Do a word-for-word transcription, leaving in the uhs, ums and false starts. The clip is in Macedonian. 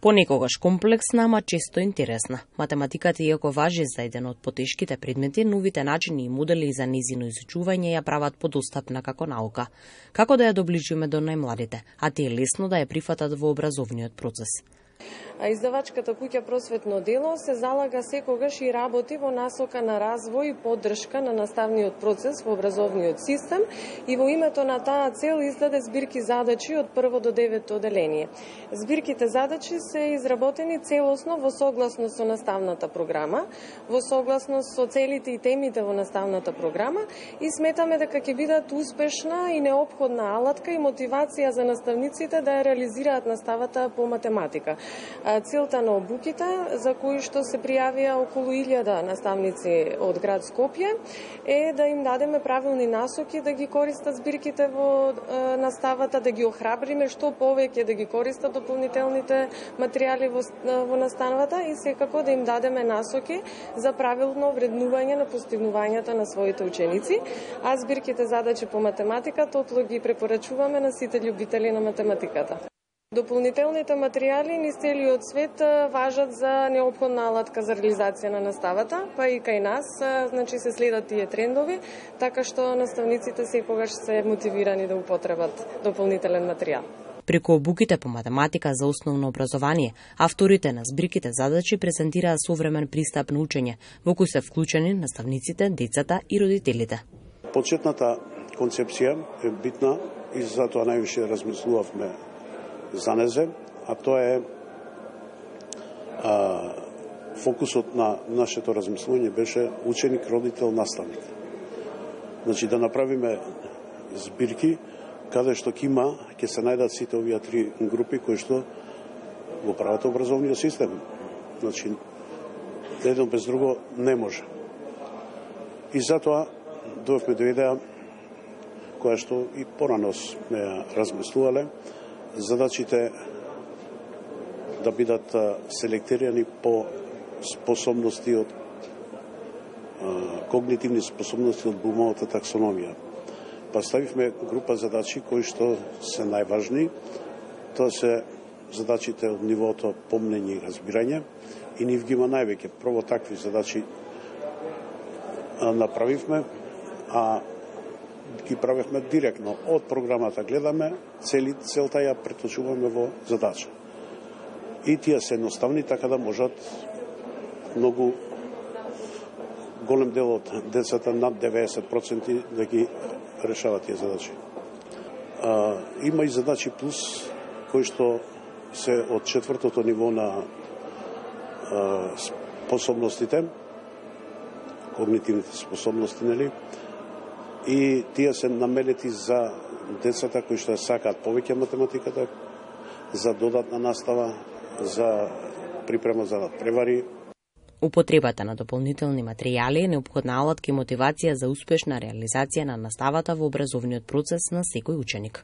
Понекогаш комплексна, ама често интересна. Математиката, иако важи за еден од потешките предмети, новите начини и модели за незино изучување ја прават подостапна како наука. Како да ја доближиме до најмладите, а тие лесно да ја прифатат во образовниот процес? А издавачката куќа Просветно дело се залага секогаш и работи во насока на развој и поддршка на наставниот процес во образовниот систем и во името на таа цел издаде збирки задачи од прво до девето оделение. Збирките задачи се изработени целосно во согласност со наставната програма, во согласност со целите и темите во наставната програма и сметаме дека ќе бидат успешна и неопходна алатка и мотивација за наставниците да ја реализираат наставата по математика. Целта на обуките, за кои што се пријавија околу илјада наставници од град Скопје, е да им дадеме правилни насоки да ги користат збирките во е, наставата, да ги охрабриме што повеќе да ги користат дополнителните материјали во, во наставата и секако да им дадеме насоки за правилно вреднување на постигнувањата на своите ученици, а збирките задачи по математика топло ги препорачуваме на сите љубители на математиката. Дополнителните материјали низ целиот свет важат за неопходна алатка за реализација на наставата, па и кај нас, значи се следат тие трендови, така што наставниците секогаш се мотивирани да употребат дополнителен материјал. Преку обуките по математика за основно образование, авторите на збирките задачи презентираа современ пристап на учење, во кој се вклучени наставниците, децата и родителите. Почетната концепција е битна и затоа највише размислувавме за незе, а тоа е а, фокусот на нашето размислување беше ученик, родител, наставник. Значи да направиме збирки каде што ќе има, ќе се најдат сите овие три групи кои што го прават образовниот систем. Значи едно без друго не може. И затоа дојавме до идеја која што и порано сме ја размислувале, задачите да бидат селектирани по способности од когнитивни способности од Блумовата таксономија. Па ставивме група задачи кои што се најважни. Тоа се задачите од нивото помнење и разбирање и нив ги има највеќе. Прво такви задачи направивме, а ги правевме директно од програмата, гледаме цели целта ја преточуваме во задача. И тие се едноставни така да можат многу голем дел од децата, над деветдесет проценти, да ги решават тие задачи. А, има и задачи плюс кои што се од четвртото ниво на а, способностите, когнитивните способности, нели? И тие се наменети за децата кои што сакаат повеќе математиката, за додатна настава, за припрема за надпревари. Употребата на дополнителни материјали е неопходна алатка и мотивација за успешна реализација на наставата во образовниот процес на секој ученик.